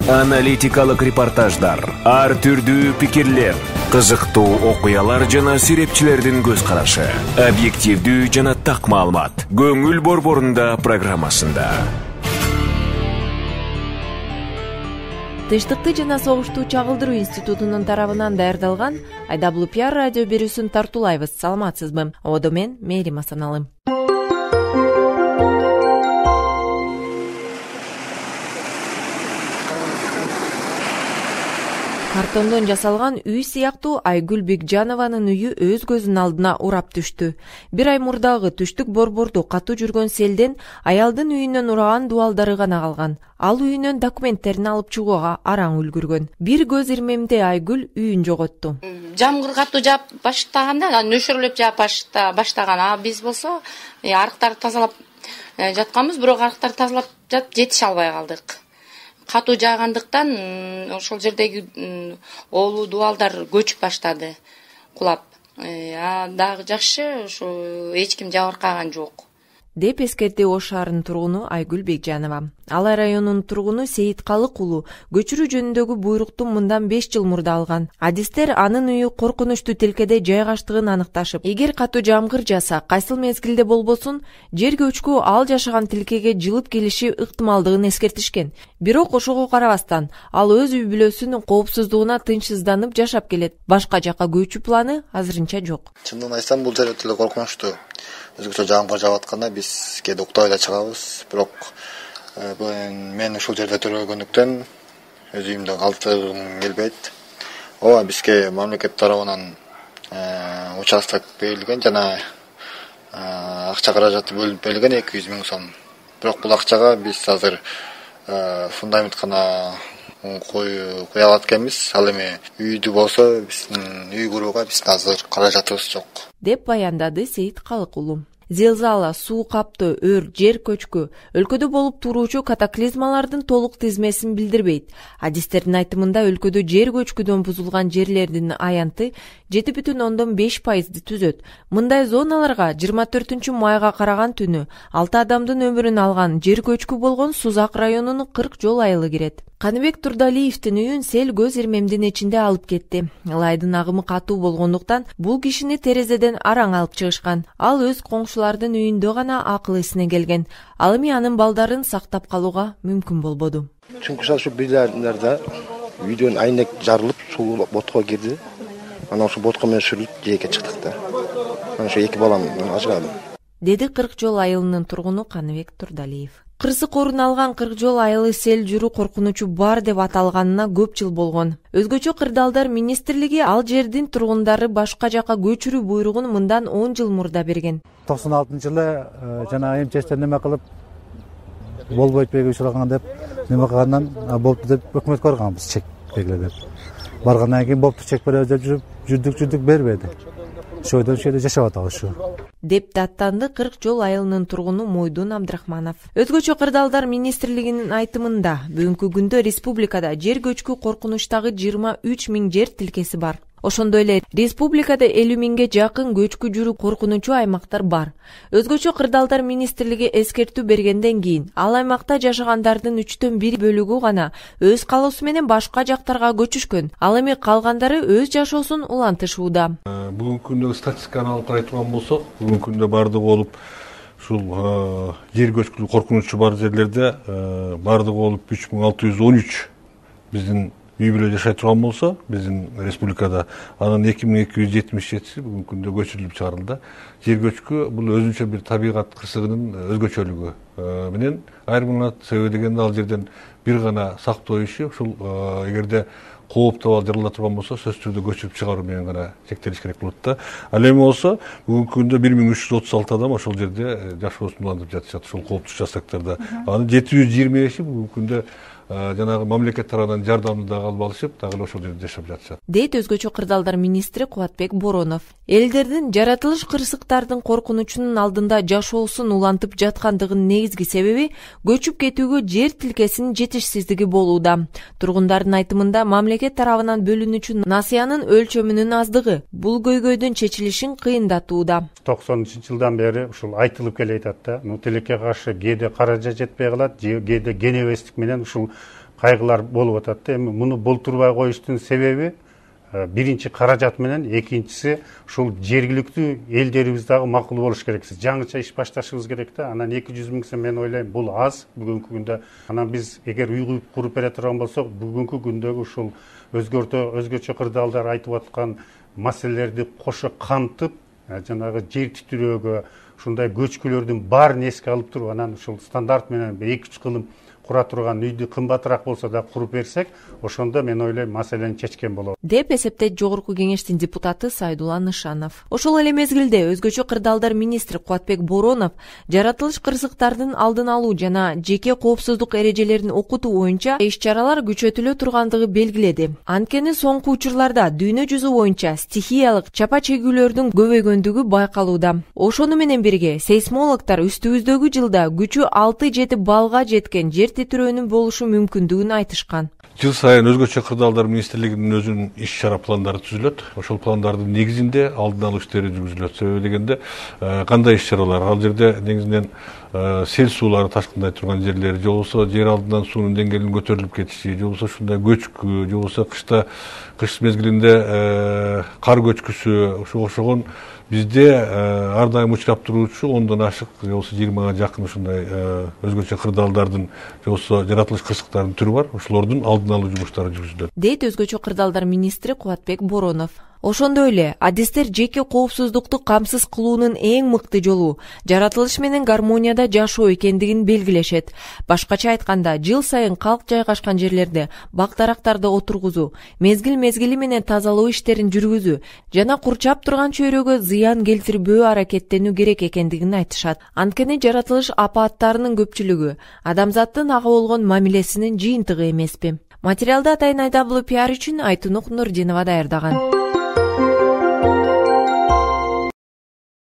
Аналитикалык репортаждар, ар түрдүү пикирлер, кызыктуу окуялар жана серепчилердин көз карашы. Объективдүү жана так маалымат. Көңүл борборунда программасында. Тынчтыкты жана согушту чагылдыруу институтунун тарабынан даярдалган Айдаблу пиар радио берүүсүн тартуулайбыз. Саламатсызбы? Одо мен Мээрим Асаналым. Картондон жасалган үй сыяктуу Айгүл Бекжанованын үйү өз көзүнүн алдына урап түштү. Бир ай мурдагы түштүк борборду катуу жүргөн селден аялдын үйүнөн ураган дубалдары гана калган. Ал үйүнөн документтерин алып чыгууга араң үлгүргөн. Бир көз ирмемде Айгүл үйүн жоготту. Жамгыр катуу жаап баштаганда, нөшөрлөп жаап баштаган. А биз болсо арыктарды тазалап жатканбыз, бирок арыктарды тазалап жатып жетише албай калдык. Катуу жаагандыктан ошол жердеги оолуу дубалдар көчүп баштады, кулап. Дагы жакшы, ошо эч ким жабыркаган жок, деп эскерди Ош шаарынын тургуну Айгүл Бекжанова. Алай районунун тургуну Сейит Калык уулу көчүрүү жөнүндөгү буйрукту мындан 5 жыл мурда алган. Адистер анын үйү коркунучтуу тилкеде жайгаштыгын аныкташып, эгер катуу жамгыр жаса, кайсыл мезгилде болбосун, жер көчкү ал жашаган тилкеге жылып келиши ыктымалдыгын эскертишкен. Бирок ошого карабастан, ал өз үй бүлөсүнүн коопсуздугуна тынчсызданып жашап келет. Башка жака көчүү планы азырынча жок. Чындыгын айтсам, бул жер өтө коркунучтуу. Өзгөчө жамгыр жаап атканда биз кээде уктабай да чыгабыз, бирок мен ушул жерде төрөлгөндүктөн өз үйүмдө калтыргым келбейт. Ооба, бизге мамлекет тарабынан участок берилген жана акча каражаты бөлүнүп берилген 200 000 сом. Бирок бул акчага биз азыр фундамент гана кое алат экенбиз. Ал эми үйдү болсо биздин үй курууга биздин азыр каражатыбыз жок, деп баяндады Сейит Калык уулу. Зилзала, суу каптоо, өр, жер көчкү өлкөдө болуп туруучу катаклизмалардын толук тизмесин билдирбейт. Адистердин айтымында өлкөдө жер көчкүдөн бузулган жерлердин аянты 7,5% түзөт. Мындай зоналарга 24 майга караган түнү 6 адамдын өмүрүн алган жер көчкү болгон Сузак районунун 40 жол айылы кирет. Каныбек Турдалиевдин үйүн сел көз ирмемдин ичинде алып кетти. Ылайдын агымы катуу болгондуктан бул кишини терезеден араң алып чыгышкан. Ал өз коңшулардын үйүндө гана акыл эсине келген. Ал эми анын балдарын сактап калууга мүмкүн болбоду. Чүнкү ошо бирлеринде үйдөн айнек жарылып, суу ботко кирди. Анан ошо ботко менен сүрүлүп жээкке чыктык да. Анан ошо 2 балам ажырадым, деди 40 жол айылынын тургуну Каныбек Турдалиев. Кырсык орун алган 40 жол айылы сел жүрүү коркунучу бар деп аталганына көп жыл болгон. Өзгөчө Кырдаалдар министрлиги ал жердин тургундары башка жака көчүрүү буйругун мындан 10 жыл мурда берген. 96-жылы жана МЧСтен неме кылып болбойт учураган деп неме кылгандан болупту деп өкмөткө барганбыз, чек бергиле деп. Баргандан кийин болупту, чек беребиз деп жүрдүк бербеди. Шойдон жерде жашап атабыз ушу, деп даттанды 40 жол айылынын тургуну Мойдун Абдрахманов. Өзгөчө Кырдаалдар министрлигинин айтымында бүгүнкү күндө республикада жер көчкү коркунучтагы 23 000 жер тилкеси бар. Ошондой эле республикада 50 000ге жакын көчкү жүрүү коркунучу аймактар бар. Өзгөчө Кырдаалдар министрлиги эскертүү бергенден кийин ал аймакта жашагандардын 1/3 бөлүгү гана өз калоосу менен башка жактарга көчүшкөн. Ал эми калгандары өз жашоосун улантышууда. Бүгүнкү күндө статистиканы алып карай турган болсок, бүгүнкү күндө бардыгы болуп ушул жер көчкү коркунучу бар жерлерде бардыгы болуп 3613 биздин үй бүлө жашай турган болсо, биздин республикада анын 2277 бүгүнкү күндө көчүрүлүп чыгарылды. Жер көчкү бул өзүнчө бир табигат кырсыгынын өзгөчөлүгү менен айрымына себеби дегенде ал жерден бир гана сактоо иши, ушул эгерде кооптуу жарыла турган болсо, сөзсүз түрдө көчүрүп чыгаруу менен гана чектелиш керек болот да. Ал эми болсо бүгүнкү күндө 1336 адам ошол жерде жашоосун улантып жатышат, ушул кооптуу участоктарда. Анын 725 бүгүнкү күндө жанагы мамлекет тарабынан жардамды дагы алып алышып, дагы ошол жерде жашап жатышат, дейт өзгөчө Кырдаалдар министри Кубатбек Боронов. Элдердин жаратылыш кырсыктардын коркунучунун алдында жашоосун улантып жаткандыгынын негизги себеби көчүп кетүүгө жер тилкесинин жетишсиздиги болууда. Тургундардын айтымында мамлекет тарабынан бөлүнүүчү насыянын өлчөмүнүн аздыгы бул көйгөйдүн чечилишин кыйындатууда. 90-жылдан бери ушул айтылып келе жатат да. Тилекке каршы кээде каражат жетпей калат, кээде кенебестик менен ушул кайгылар болуп атат да. Эми муну болтурбай коюштун себеби биринчи каражат менен, экинчиси ушул жергиликтүү элдерибиз дагы макул болуш керек. Жаңыча иш башташыбыз керек да. Анан 200 миң сом мен ойлойм бул аз бүгүнкү күндө. Анан биз эгер үй куруп бере турган болсок, бүгүнкү күндөгү ушул өзгөчө кырдаалдар айтып аткан маселелерди кошо камтып, жанагы жер титирөөгө, ушундай көчкүлөрдүн баарын эске алып туруп, анан ушул стандарт менен 2-3 кылым кура турган үйдү кымбатыраак болсо да куруп берсек, ошондо мен ойлойм маселени чечкен болот деп эсептейт Жогорку Кеңештин депутаты Сайдулла Нышанов. Ошол эле мезгилде өзгөчө кырдаалдар министри Кубатбек Боронов жаратылыш кырсыктардын алдын алуу жана жеке коопсуздук эрежелерин окутуу боюнча иш-чаралар күчөтүлө тургандыгы белгиледи. Анткени соңку учурларда дүйнө жүзү боюнча стихиялык чапа чегүүлөрдүн көбөйгөндүгү байкалууда. Ошону менен бирге сейсмологдор үстүбүздөгү жылда күчү 6-7 баллга жеткен жер титирөөнүн болушу мүмкүндүгүн айтышкан. Жыл сайын өзгөчө кырдаалдар министрлигинин өзүнүн иш-чара пландары түзүлөт. Ошол пландардын негизинде алдын алуу иштери жүргүзүлөт. Себеби дегенде кандай иш-чаралар? Ал жерде негизинен сел суулары ташкындай турган жерлер, же болбосо жер алдынан суунун деңгээлинин көтөрүлүп кетиши, же болбосо ушундай көчкү, же болбосо кыш мезгилинде кар көчкүсү, ошого окшогон бизде ар дайым учурап туруучу 10дон ашык, же болбосо 20га жакын ушундай өзгөчө кырдаалдардын, же болбосо жаратылыш кырсыктардын түрү бар. Ошолордун алдын алуу жумуштары жүргүзүлөт, дейт өзгөчө кырдаалдар министри Кубатбек Боронов. Ошондой эле адистер жеке коопсуздукту камсыз кылуунун эң мыкты жолу жаратылыш менен гармонияда жашоо экендигин белгилешет. Башкача айтканда, жыл сайын калк жайгашкан жерлерде бак-дарактарды отургузуу, мезгил-мезгили менен тазалоо иштерин жүргүзүү жана курчап турган чөйрөгө зыян келтирбөө аракеттенүү керек экендигин айтышат. Анткени жаратылыш апааттарынын көпчүлүгү адамзаттын ага болгон мамилесинин жыйынтыгы эмеспи? Материалды Атайын WPR үчүн Айтунук Нурдинова даярдаган.